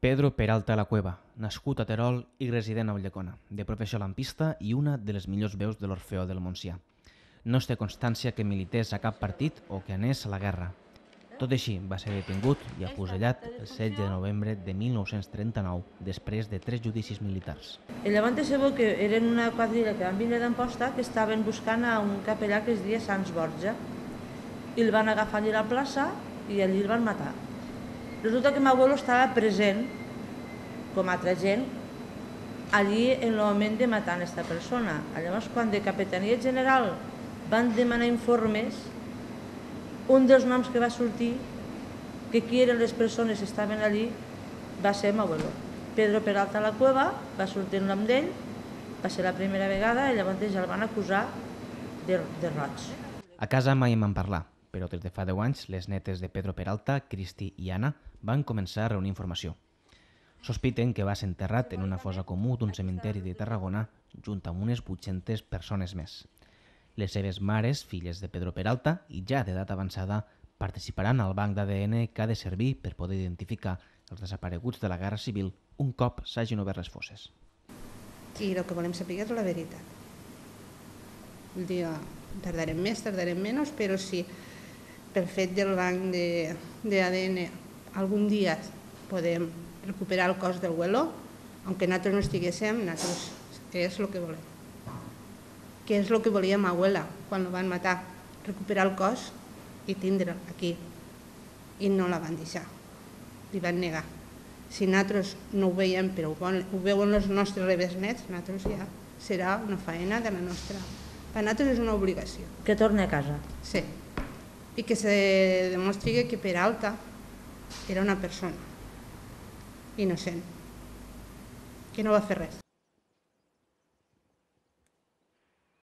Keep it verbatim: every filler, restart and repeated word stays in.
Pedro Peralta La Cueva, nascut a Terol i resident a Ulldecona, de professió lampista i una de les millors veus de l'Orfeó del Montsià. No es té constància que milités a cap partit o que anés a la guerra. Tot així, va ser detingut i afusellat el setze de novembre de mil nou-cents trenta-nou, després de tres judicis militars. I llavors sabeu que eren una quadrilla que van vindre d'Amposta que estaven buscant a un capellà que es deia Sants Borja. I el van agafar allà a la plaça i allí el van matar. Resulta que meu abuelo estava present, com altra gent, allí en el moment de matar aquesta persona. Llavors, quan de Capitania General van demanar informes, un dels noms que va sortir, que qui eren les persones que estaven allí, va ser meu abuelo. Pedro Peralta La Cueva, va sortir el nom d'ell, va ser la primera vegada i llavors ja el van acusar de, de roig. A casa mai en van parlar, però des de fa deu anys les netes de Pedro Peralta, Cristi i Anna, van començar a reunir informació. Sospiten que va ser enterrat en una fossa comú d'un cementeri de Tarragona junt amb unes vuit-centes persones més. Les seves mares, filles de Pedro Peralta i ja d'edat avançada, participaran al banc d'A D N que ha de servir per poder identificar els desapareguts de la Guerra Civil un cop s'hagin obert les fosses. I el que volem saber és la veritat. Vull dir, tardarem més, tardarem menys, però si pel fet del banc d'A D N algun dia podem recuperar el cos del abuelo, aunque nosaltres no estiguéssim, nosaltres és el que volem. Què és el que volia ma abuela quan el van matar? Recuperar el cos i tindre'l aquí. I no la van deixar, li van negar. Si nosaltres no ho veiem, però ho veuen els nostres rebesnets, nosaltres ja serà una feina de la nostra. Per nosaltres és una obligació. Que torni a casa. Sí. I que se demostri que Peralta era una persona innocent, que no va fer res.